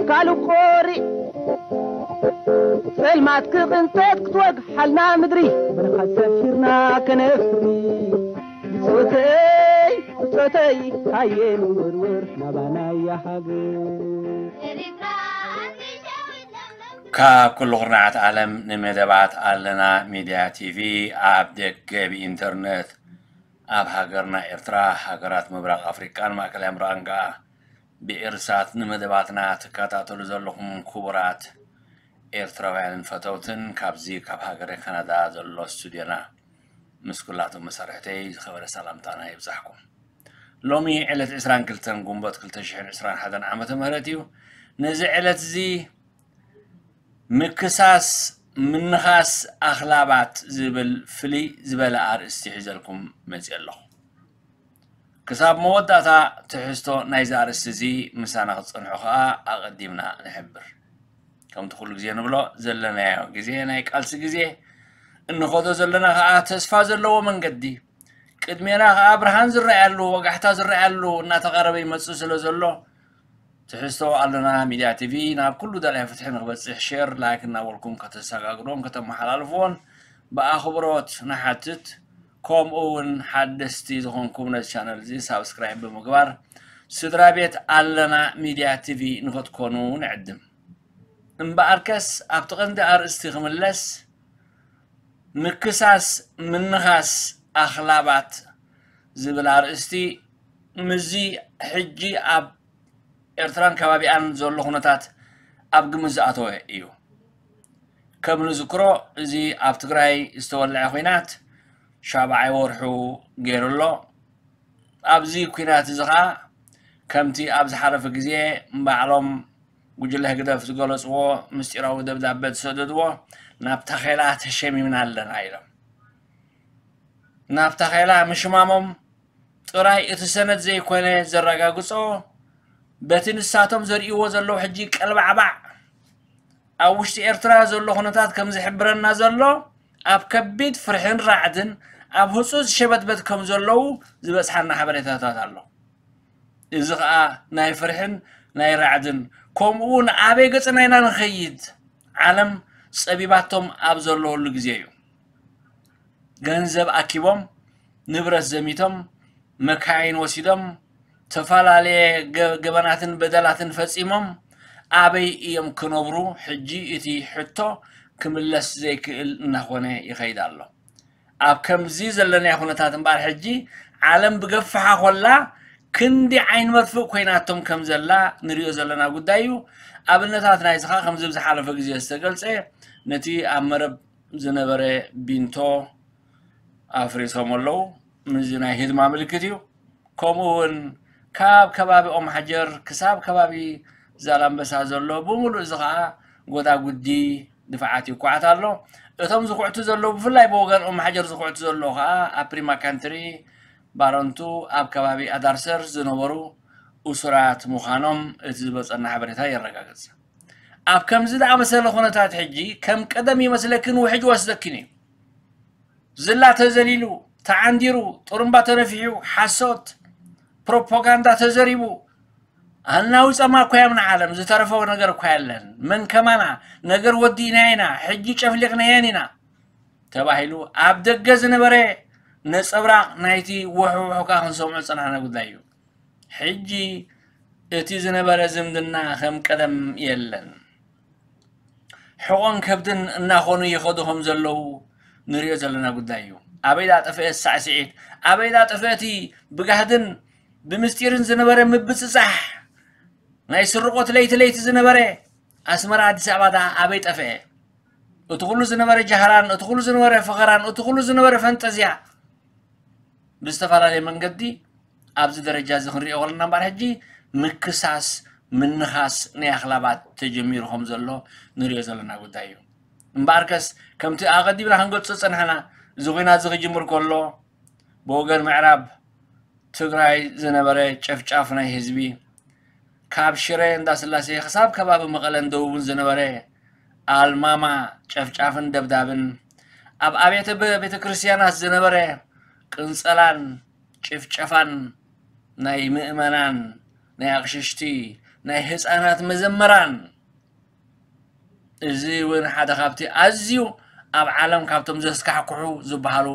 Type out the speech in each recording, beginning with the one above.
ካልእ ቆሪዕ ጸልማት ክቕንጠጥ ክትወግሓልና ምድሪ፣ ብርሃን ሰፊርና ከነፍሪ። ብጾተይ፣ ብጾተይ፣ ሃየ ንወርወር ናባናያ ሃገር። ካብ ኩሉ ኩርናዓት ዓለም ንመደባት ኣለና ሚድያ ቲቪ ኣብ ደገ ብኢንተርነት ኣብ ሃገርና ኤርትራ፣ ሃገራት ምብራቕ ኣፍሪቃን ማእከላይ ምብራቕን ከኣ ብኤርሳት ንመደባትና ትከታተሉ ዘለኹም ክቡራት ኤርትራውያንን ፈተውትን፣ ካብዚ ካብ ሃገረ ካናዳ ዘሎ ስቱድዮና ምስ ኩላቶም መሳርሕተይ ዝኸበረ ሰላምታና ይብጻሕኩም። ሎሚ ዕለት ዕስራን ክልተን ጉንበት ክልተ ሽሕን ዕስራን ሓደን ዓመተ ምህረት እዩ። ነዚ ዕለት እዚ ምክሳስ ምንኻስ ኣኽላባት ዝብል ፍልይ ዝበለ ኣርእስቲ ሒዘልኩም መጺአ ኣለኹ። ክሳብ መወዳእታ ትሕዝቶ ናይዚ ኣርእስቲ እዚ ምሳና ክትጸንሑ ከኣ ኣቐዲምና ንሕብር። ከምቲ ኩሉ ግዜ ንብሎ ዘለናዮ ግዜ ናይ ቃልሲ ግዜ፣ እንኸዶ ዘለና ከኣ ተስፋ ዘለዎ መንገዲ፣ ቅድሜና ከኣ ብርሃን ዝረኣየሉ፣ ወጋሕታ ዝረኣየሉ እናተቓረበ ይመጽእ ስለ ዘሎ፣ ትሕዝቶ ኣለና ሚድያ ቲቪ ናብ ኩሉ ደላይ ፍትሒ ንክበጽሕ ሼር፣ ላይክ እናበልኩም ከተሰጋግዶን ከተመሓላልፍዎን ብኣኽብሮት ንሓትት። ከምኡ እውን ሓደስቲ ዝኾንኩም ነዚ ቻነል እዚ ሳብስክራይብ ብምግባር ስድራ ቤት ኣለና ሚድያ ቲቪ ንክትኮኑ ንዕድም። እምበኣርከስ ኣብቲ ቀንዲ ኣርእስቲ ክምለስ፣ ምክሳስ ምንኻስ ኣኽላባት ዝብል ኣርእስቲ ምስዚ ሕጂ ኣብ ኤርትራን ከባቢኣን ዘሎ ኩነታት ኣብ ግምት ዝኣተወ እዩ። ከም ንዝክሮ፣ እዚ ኣብ ትግራይ ዝተወልዐ ኲናት ሻብዓይ ወርሑ ገይሩ ኣሎ። ኣብዚ ኲናት እዚ ኸኣ ከምቲ ኣብ ዝሓለፈ ግዜ ባዕሎም ጉጅለ ህግደፍ ዝገለጽዎ ምስጢራዊ ደብዳበ ዝሰደድዎ፣ ናብ ታኼላ ተሸሚምና ኣለና ኢሎም። ናብ ታኼላ ምሽማሞም ጥራይ እቲ ሰነድ ዘይኮነ ዘረጋግጾ፣ በቲ ንሳቶም ዘርእይዎ ዘለዉ ሕጂ ቀልባዕባዕ ኣብ ውሽጢ ኤርትራ ዘሎ ኩነታት ከም ዝሕብረና ዘሎ፣ ኣብ ከቢድ ፍርሕን ራዕድን ኣብ ህጹጽ ሸበትበት ከም ዘለዉ ዝበጽሓና ሓበሬታታት ኣሎ። እዚ ኸኣ ናይ ፍርሕን ናይ ራዕድን፣ ከምኡ እውን ኣበይ ገጽና ኢና ንኸይድ፣ ዓለም ጸቢባቶም ኣብ ዘለወሉ ግዜ እዩ። ገንዘብ ኣኪቦም፣ ንብረት ዘሚቶም፣ መካይን ወሲዶም፣ ተፈላለየ ገ-፣ ገበናትን በደላትን ፈጺሞም፣ ኣበይ እዮም ክነብሩ? ሕጂ እቲ ሕቶ ክምለስ ዘይክእል እናኾነ ይኸይድ ኣሎ። ኣብ ከምዚ ዘለናዮ ኩነታት እምበኣር፣ ሕጂ ዓለም ብገፍሓ ኮላ፣ ክንዲ ዓይኒ መርፍእ ኮይናቶም ከም ዘላ ንሪኦ ዘለና ጉዳይ እዩ። ኣብነታት ናይዚ ኸኣ ከምዚ ብዝሓለፈ ግዜ ዝተገልጸ፣ ነቲ ኣብ መረብ ዝነበረ ቢንቶ ኣፍሪሶም ኣለዉ። እዚ ናይ ህድማ ምልክት እዩ። ከምኡ እውን ካብ ከባቢ ኦም ሓጀር ክሳብ ከባቢ ዛላምበሳ ዘሎ ብምሉእ እዚ ኸኣ ጎዳጉዲ ድፋዓት ይኳዓት ኣሎ። እቶም ዝኹዕቱ ዘለዉ፣ ብፍላይ ብወገን ኦም ሓጀር ዝኹዕቱ ዘለዉ ኸኣ ኣብ ፕሪማ ካንትሪ፣ ባረንቱ፣ ኣብ ከባቢ ኣዳርሰር ዝነበሩ እሱራት ምዃኖም እቲ ዝበጸና ሓበሬታ የረጋግጽ። ኣብ ከምዚ ዝኣመሰለ ኩነታት ሕጂ ከም ቀደም ይመስለክን ውሕጅ ወስደክን እዩ። ዝላ ተዘሊሉ፣ ተዓንዲሩ፣ ጥሩምባ ተነፊሑ፣ ሓሶት፣ ፕሮፓጋንዳ ተዘሪቡ፣ ኣናዊጸማ እኮ እዮም ንዓለም፣ ዝተረፈ ነገር እኮ የለን። መን ከማና፣ ነገር ወዲእናዮ ኢና፣ ሕጂ ጨፍሊቕናየን ኢና ተባሂሉ ኣብ ደገ ዝነበረ ነጸብራቕ ናይቲ ውሕውሕካ ክንሰምዖ ዝጸናሕና ጉዳይ እዩ። ሕጂ እቲ ዝነበረ ዝምድና ከም ቀደም የለን። ሕቖን ከብድን እናኾኑ ይኸዱ ከም ዘለዉ ንሪኦ ዘለና ጉዳይ እዩ። ኣበይ ዳጠፍአ ሳዕስዒት? ኣበይ ዳጠፍአ እቲ ብጋህድን ብምስጢርን ዝነበረ ምብጽጻሕ? ናይ ስርቆት ለይቲ ለይቲ ዝነበረ ኣስመራ ኣዲስ ኣበባ ደኣ ኣበይ ጠፍአ? እቲ ኩሉ ዝነበረ ጃህራን፣ እቲ ኩሉ ዝነበረ ፈኸራን፣ እቲ ኩሉ ዝነበረ ፈንጠዝያ ብዝተፈላለየ መንገዲ ኣብዚ ደረጃ እዚ ክንሪኦ ከለና እምበኣር፣ ሕጂ ምክሳስ፣ ምንኻስ ናይ ኣኽላባት ተጀሚሩ ከም ዘሎ ንሪኦ ዘለና ጉዳይ እዩ። እምበኣርከስ ከምቲ ኣቐዲምና ክንገልጾ ዝጸናሕና፣ እዚ ኲናት እዚ ክጅምር ከሎ ብወገን ምዕራብ ትግራይ ዝነበረ ጨፍጫፍ ናይ ህዝቢ፣ ካብ ሽረ እንዳስላሴ ክሳብ ከባቢ መቐለን ደቡብን ዝነበረ ኣልማማ ጨፍጫፍን ደብዳብን፣ ኣብ ኣብያተ በ-፣ ቤተ ክርስቲያናት ዝነበረ ቅንጸላን ጭፍጨፋን ናይ ምእመናን፣ ናይ ኣቕሽሽቲ፣ ናይ ህፃናት መዘመራን፣ እዚ እውን ሓደ ካብቲ ኣዝዩ ኣብ ዓለም ካብቶም ዘስካሕክሑ ዝበሃሉ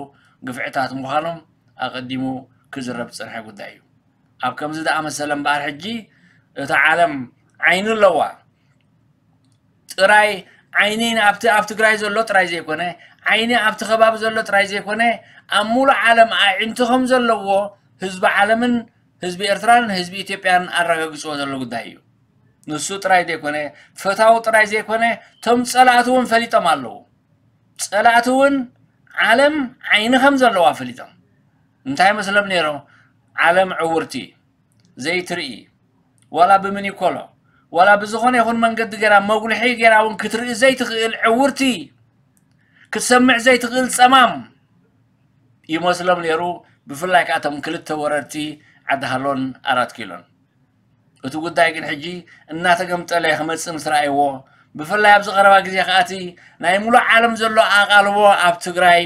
ግፍዕታት ምዃኖም ኣቐዲሙ ክዝረብ ዝፀንሐ ጉዳይ እዩ። ኣብ ከምዚ ዝኣመሰለ እምበኣር ሕጂ እታ ዓለም ዓይኒ ኣለዋ። ጥራይ ዓይኒ ኣብቲ ኣብ ትግራይ ዘሎ ጥራይ ዘይኮነ፣ ዓይኒ ኣብቲ ከባቢ ዘሎ ጥራይ ዘይኮነ፣ ኣብ ሙሉእ ዓለም ኣዒንቲ ከም ዘለዎ ህዝቢ ዓለምን ህዝቢ ኤርትራን ህዝቢ ኢትዮጵያን ኣረጋጊፅዎ ዘሎ ጉዳይ እዩ። ንሱ ጥራይ ዘይኮነ፣ ፈታዊ ጥራይ ዘይኮነ፣ እቶም ፀላእቲ እውን ፈሊጦም ኣለዉ። ፀላእቲ እውን ዓለም ዓይኒ ከም ዘለዋ ፈሊጦም። እንታይ መስሎም ነይሮ? ዓለም ዕውርቲ፣ ዘይትርኢ፣ ዋላ ብምኒኮሎ፣ ዋላ ብዝኾነ ይኹን መንገዲ ገይራ፣ መጉልሒ ገይራ እውን ክትርኢ ዘይትኽእል ዕውርቲ፣ ክትሰምዕ ዘይትኽእል ጸማም ይመስሎም ነይሩ። ብፍላይ ከኣ እቶም ክልተ ወረርቲ ዓዲ ሃሎን ኣራት ኪሎን። እቲ ጉዳይ ግን ሕጂ እናተገምጠለ ክመጽእ ምስ ረኣይዎ፣ ብፍላይ ኣብዚ ቀረባ ግዜ ከኣ እቲ ናይ ሙሉእ ዓለም ዘሎ ኣቓልቦ ኣብ ትግራይ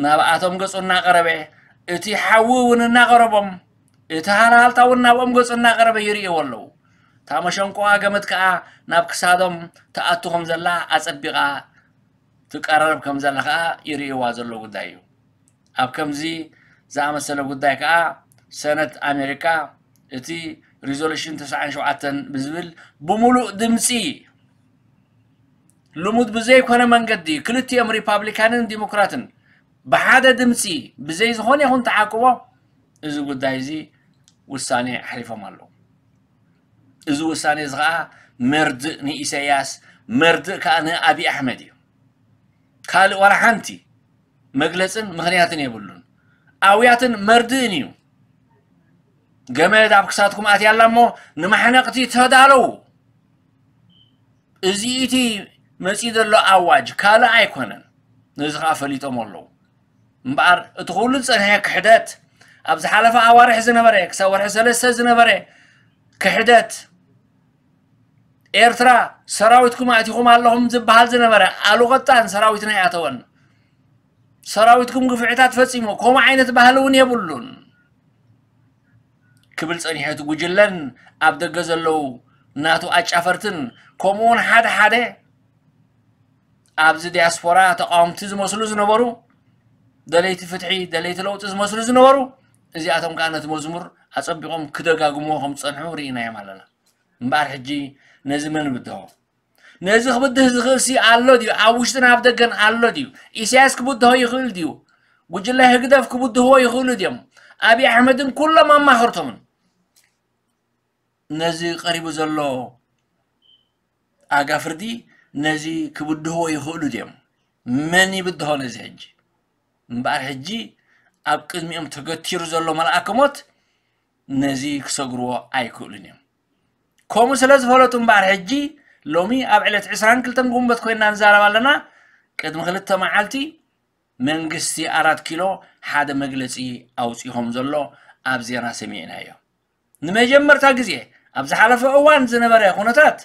ናብኣቶም ገጹ እናቐረበ፣ እቲ ሓዊ እውን እናቐረቦም፣ እቲ ሃልሃልታ እውን ናብኦም ገጹ እናቐረበ ይርእይዎ ኣለዉ። እታ መሸንቆኣ ገመድ ከኣ ናብ ክሳዶም ትኣቱ ከም ዘላ ኣጸቢቓ ትቀራረብ ከም ዘላ ከኣ ይርእይዋ ዘሎ ጉዳይ እዩ። ኣብ ከምዚ ዝኣመሰለ ጉዳይ ከኣ ሰነት ኣሜሪካ እቲ ሪዞሉሽን ተስዓን ሸውዓተን ብዝብል ብምሉእ ድምፂ፣ ልሙድ ብዘይኮነ መንገዲ ክልቲኦም ሪፓብሊካንን ዲሞክራትን ብሓደ ድምፂ ብዘይ ዝኾነ ይኹን ተዓቅቦ እዚ ጉዳይ እዚ ውሳኔ ኣሕሊፎም ኣለዉ። እዚ ውሳኔ እዚ ኸዓ መርድእ ንኢሳያስ፣ መርድእ ከዓ ንኣብይ ኣሕመድ እዩ። ካልእ ዋላ ሓንቲ መግለጽን ምኽንያትን የብሉን። ኣውያትን መርድእን እዩ። ገመድ ኣብ ክሳድኩም ኣትያ ኣላ እሞ ንማሕነቕቲ ተዳለዉ። እዚ እቲ መጺኡ ዘሎ ኣዋጅ ካልእ ኣይኮነን። ነዚ ኸዓ ፈሊጦም ኣለዉ። እምበኣር እቲ ኩሉ ዝጸንሐ ክሕደት፣ ኣብ ዝሓለፈ ኣዋርሕ ዝነበረ፣ ክሳብ ወርሒ ሰለስተ ዝነበረ ክሕደት፣ ኤርትራ ሰራዊትኩም ኣእቲኹም ኣለኹም ዝበሃል ዝነበረ፣ ኣሉቐጣን ሰራዊትና ኣይኣተወን። ሰራዊትኩም ግፍዕታት ፈጺሙ፣ ከምኡ ዓይነት ባህሊ እውን የብሉን ክብል ጸኒሑ። እቲ ጉጅለን ኣብ ደገ ዘለዉ ናቱ ኣጫፈርትን፣ ከምኡ እውን ሓደ ሓደ ኣብዚ ዲያስፖራ ተቃወምቲ ዝመስሉ ዝነበሩ፣ ደለይቲ ፍትሒ፣ ደለይቲ ለውጢ ዝመስሉ ዝነበሩ፣ እዚኣቶም ከኣ ነቲ መዝሙር ኣጸቢቖም ክደጋግምዎ ከም ዝጸንሑ ርኢናዮም ኣለና። እምበኣር ሕጂ ነዚ መን ይብድሆ? ነዚ ክብድህ ዝኽእልሲ ኣሎ ድዩ? ኣብ ውሽጥን ኣብ ደገን ኣሎ ድዩ? ኢሳያስ ክብድሆ ይኽእል ድዩ? ጉጅለ ህግደፍ ክብድህዎ ይኽእሉ ድዮም? ኣብይ ኣሕመድን ኩሎም ኣማኸርቶምን። ነዚ ቀሪቡ ዘሎ ኣጋ ፍርዲ ነዚ ክብድህዎ ይኽእሉ ድዮም? መን ይብድሆ ነዚ ሕጂ? እምበኣር ሕጂ ኣብ ቅድሚኦም ተገቲሩ ዘሎ መልኣከ ሞት ነዚ ክሰግርዎ ኣይክእሉን እዮም። ከምኡ ስለ ዝፈለጡ እምበኣር ሕጂ ሎሚ ኣብ ዕለት ዕስራን ክልተን ግንቦት ኮይንና ንዛረብ ኣለና። ቅድሚ ክልተ መዓልቲ መንግስቲ ኣራት ኪሎ ሓደ መግለጺ ኣውጺኡ ከም ዘሎ ኣብ ዜና ሰሚዕናዮ። ንመጀመርታ ግዜ ኣብ ዝሓለፈ እዋን ዝነበረ ኩነታት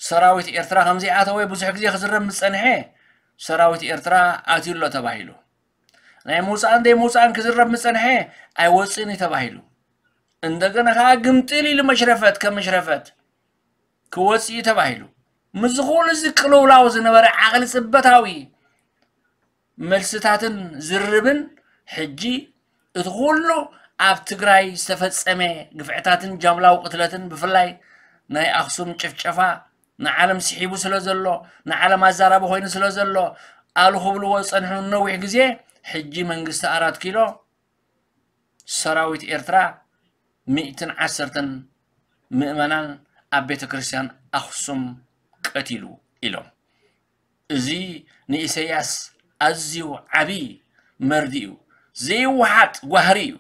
ሰራዊት ኤርትራ ከም ዘይኣተወ ብዙሕ ግዜ ክዝረብ ምስ ጸንሐ፣ ሰራዊት ኤርትራ ኣትዩ ኣሎ ተባሂሉ። ናይ ምውጻእን ዘይምውጻእን ክዝረብ ምስ ጸንሐ፣ ኣይወጽእን እዩ ተባሂሉ። እንደገና ከኣ ግምጥል ኢሉ መሽረፈት ከም መሽረፈት ክወጽእ እዩ ተባሂሉ። ምስዚ ኩሉ እዚ ቅልውላው ዝነበረ ዓቕሊ ጽበታዊ መልስታትን ዝርርብን፣ ሕጂ እቲ ኩሉ ኣብ ትግራይ ዝተፈጸመ ግፍዕታትን ጃምላዊ ቅትለትን፣ ብፍላይ ናይ ኣኽሱም ጭፍጨፋ ንዓለም ስሒቡ ስለ ዘሎ፣ ንዓለም ኣዛራቢ ኮይኑ ስለ ዘሎ፣ ኣሉ ክብልዎ ዝጸንሑ ነዊሕ ግዜ፣ ሕጂ መንግስቲ ኣራት ኪሎ ሰራዊት ኤርትራ ሚእትን ዓሰርተን ምእመናን ኣብ ቤተ ክርስቲያን ኣኽሱም ቀቲሉ ኢሎም። እዚ ንኢሳያስ ኣዝዩ ዓቢ መርድእ እዩ። ዘይወሓጥ ጓህሪ እዩ።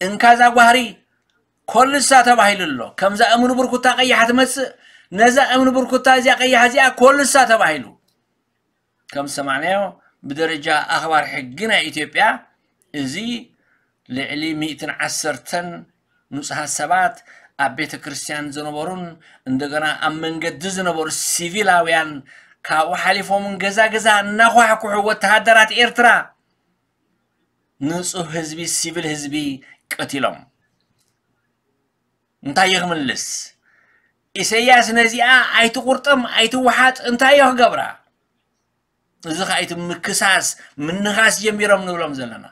እንካዛ ጓህሪ ኮልሳ ተባሂሉ ኣሎ። ከምዛ እምኒ ብርኩታ ቀያሕ ትመጽእ፣ ነዛ እምኒ ብርኩታ እዚኣ ቀያሕ እዚኣ ኮልሳ ተባሂሉ። ከም ዝሰማዕናዮ፣ ብደረጃ ኣኽባር ሕጊ ናይ ኢትዮጵያ፣ እዚ ልዕሊ ሚእትን ዓሰርተን ንጹሃት ሰባት ኣብ ቤተ ክርስቲያን ዝነበሩን እንደገና ኣብ መንገዲ ዝነበሩ ሲቪላውያን፣ ካብኡ ሓሊፎም እውን ገዛ ገዛ እናኳሕኩሑ ወተሃደራት ኤርትራ ንጹህ ህዝቢ፣ ሲቪል ህዝቢ ቀቲሎም። እንታይ እዩ ክምልስ? ኢሰያስ ነዚኣ ኣይትቁርጠም ኣይትወሓጥ እንታይ እዩ ክገብራ? እዚ ኸኣ እቲ ምክሳስ ምንኻስ ጀሚሮም ንብሎም ዘለና።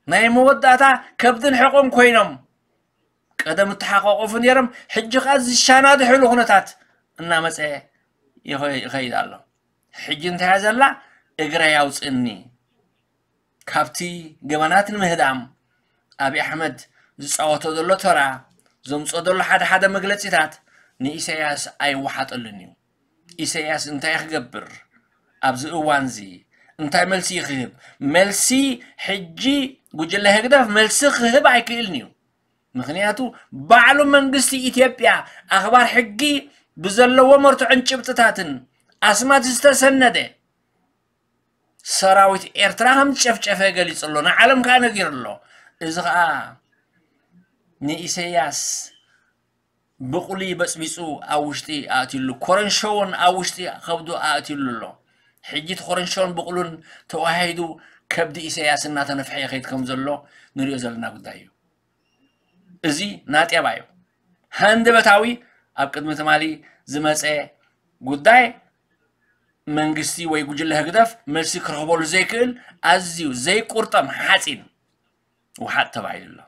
ናይ መወዳእታ ከብድን ሕቆን ኮይኖም ቀደም እተሓቋቆፉ ነይሮም፣ ሕጂ ኸኣ ዝሻናድሕሉ ኩነታት እናመጸ ይኸ- ይኸይድ ኣሎ። ሕጂ እንታይ እያ ዘላ? እግረይ ኣውፅእኒ። ካብቲ ገበናት ንምህዳም ኣብይ ኣሕመድ ዝፃወቶ ዘሎ ተራ፣ ዘምፅኦ ዘሎ ሓደ ሓደ መግለፂታት ንኢሳያስ ኣይወሓጠሉን እዩ። ኢሳያስ እንታይ ክገብር ኣብዚ እዋን እዚ እንታይ መልሲ ይክህብ? መልሲ ሕጂ ጉጅለ ህግደፍ መልሲ ክህብ ኣይክእልን እዩ። ምክንያቱ ባዕሉ መንግስቲ ኢትዮጵያ ኣኽባር ሕጊ ብዘለዎ መርትዖን ጭብጥታትን ኣስማት ዝተሰነደ ሰራዊት ኤርትራ ከም ዝጨፍጨፈ ገሊጹ ኣሎ፣ ንዓለም ከኣ ነጊሩ ኣሎ። እዚ ከኣ ንኢሰያስ ብቑሊ በጽቢጹ ኣብ ውሽጢ ኣእትዩሉ፣ ኮረንሾውን ኣብ ውሽጢ ከብዱ ኣእትዩሉ ኣሎ። ሕጂ እቲ ኮረንሾን ብቑሉን ተዋሃሂዱ ከብዲ ኢሰያስ እናተነፍሐ ይኸይድ ከም ዘሎ ንሪኦ ዘለና ጉዳይ እዩ። እዚ ናጤባ እዩ። ሃንደበታዊ ኣብ ቅድሚ ትማሊ ዝመጸ ጉዳይ መንግስቲ ወይ ጉጅለ ህግደፍ መልሲ ክረኽበሉ ዘይክእል ኣዝዩ ዘይቁርጠም ሓፂን ውሓጥ ተባሂሉ ኣሎ።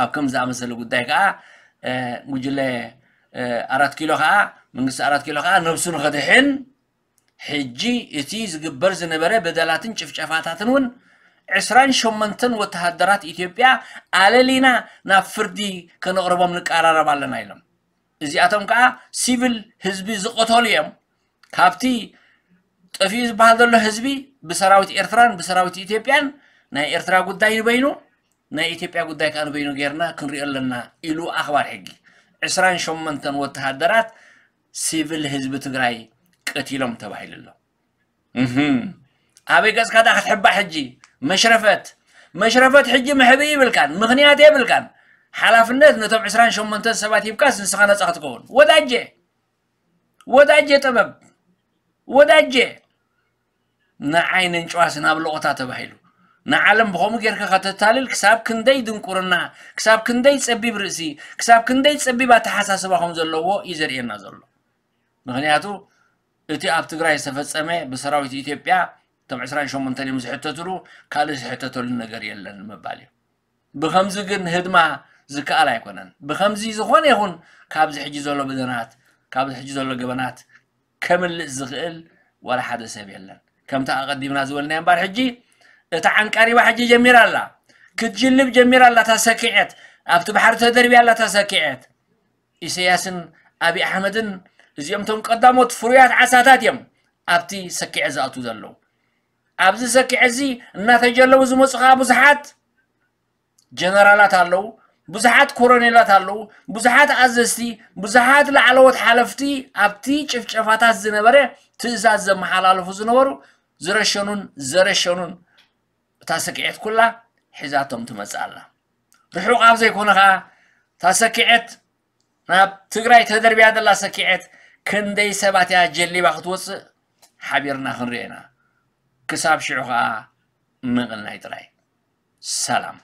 ኣብ ከም ዝኣመሰለ ጉዳይ ከዓ እ፣ ጉጅለ እ፣ ኣራት ኪሎ ከዓ መንግስቲ ኣራት ኪሎ ከዓ ነብሱ ንኸድሕን ሕጂ እቲ ዝግበር ዝነበረ በደላትን ጭፍጨፋታትን እውን ዕስራን ሸሞንተን ወተሃደራት ኢትዮጵያ ኣለሊና ናብ ፍርዲ ከነቕርቦም ንቀራረብ ኣለና ኢሎም። እዚኣቶም ከዓ ሲቪል ህዝቢ ዝቐተሉ እዮም። ካብቲ ጠፊኡ ዝበሃል ዘሎ ህዝቢ ብሰራዊት ኤርትራን ብሰራዊት ኢትዮጵያን ናይ ኤርትራ ጉዳይ ንበይኑ ናይ ኢትዮጵያ ጉዳይ ከዓ ንበይኑ ጌርና ክንሪኦ ኣለና ኢሉ ኣኽባር ሕጊ ዕስራን ሸሞንተን ወተሃደራት ሲቪል ህዝቢ ትግራይ ቀቲሎም ተባሂሉ ኣሎ። እህም። ኣበይ ገጽካ ዳ ክትሕባእ ሕጂ? መሽረፈት መሽረፈት ሕጂ መሕብኢ ይብልካን ምኽንያት የብልካን። ሓላፍነት ነቶም ዕስራን ሸሞንተን ሰባት ሂብካስ ንስኻ ነጻ ክትከውን ወዳጀ ወዳጀ ጥበብ ወዳጀ ንዓይ ንንጭዋስ ናብ ሎቕታ ተባሂሉ ንዓለም ብኸምኡ ጌርካ ከተታልል ክሳብ ክንደይ ድንቁርና ክሳብ ክንደይ ጸቢብ ርእሲ ክሳብ ክንደይ ጸቢብ ኣተሓሳስባ ከም ዘለዎ እዩ ዘርእየና ዘሎ። ምክንያቱ እቲ ኣብ ትግራይ ዝተፈጸመ ብሰራዊት ኢትዮጵያ እቶም ዕስራን ሸሞንተን እዮም ዝሕተትሉ ካልእ ዝሕተተሉ ነገር የለን ምባል እዩ። ብኸምዚ ግን ህድማ ዝከኣል ኣይኮነን። ብኸምዚ ዝኾነ ይኹን ካብዚ ሕጂ ዘሎ በደላት ካብዚ ሕጂ ዘሎ ገበናት ከምልጥ ዝኽእል ዋላ ሓደ ሰብ የለን። ከምታ ኣቐዲምና ዝበልናዮ እምበር ሕጂ እታ ዓንቃሪባ ሕጂ ጀሚራ ኣላ ክትጅልብ ጀሚራ ኣላ። እታ ሰኪዐት ኣብቲ ባሕሪ ተደርብያ ኣላ እታ ሰኪዐት። ኢሰያስን ኣብይ ኣሕመድን እዚኦም እቶም ቀዳሞት ፍሩያት ዓሳታት እዮም ኣብቲ ሰኪዐት ዝኣትዉ ዘለዉ። ኣብዚ ሰኪዐት እዚ እናተጀለቡ ዝመፁ ከዓ ብዙሓት ጀነራላት ኣለዉ፣ ብዙሓት ኮሮኔላት ኣለዉ፣ ብዙሓት ኣዘዝቲ፣ ብዙሓት ላዕለዎት ሓለፍቲ ኣብቲ ጭፍጨፋታት ዝነበረ ትእዛዝ ዘመሓላልፉ ዝነበሩ ዝረሸኑን ዘረሸኑን እታ ስክዔት ኩላ ሒዛቶም ትመጽእ ኣላ። ርሑቕ ኣብ ዘይኮነ ኸኣ እታ ሰኪዔት ናብ ትግራይ ተደርብያ ዘላ ሰኪዔት ክንደይ ሰባት እያ ጀሊባ ክትወጽእ ሓቢርና ክንሪኦ ኢና። ክሳብ ሽዑ ኸኣ ምቕናይ ጥራይ። ሰላም።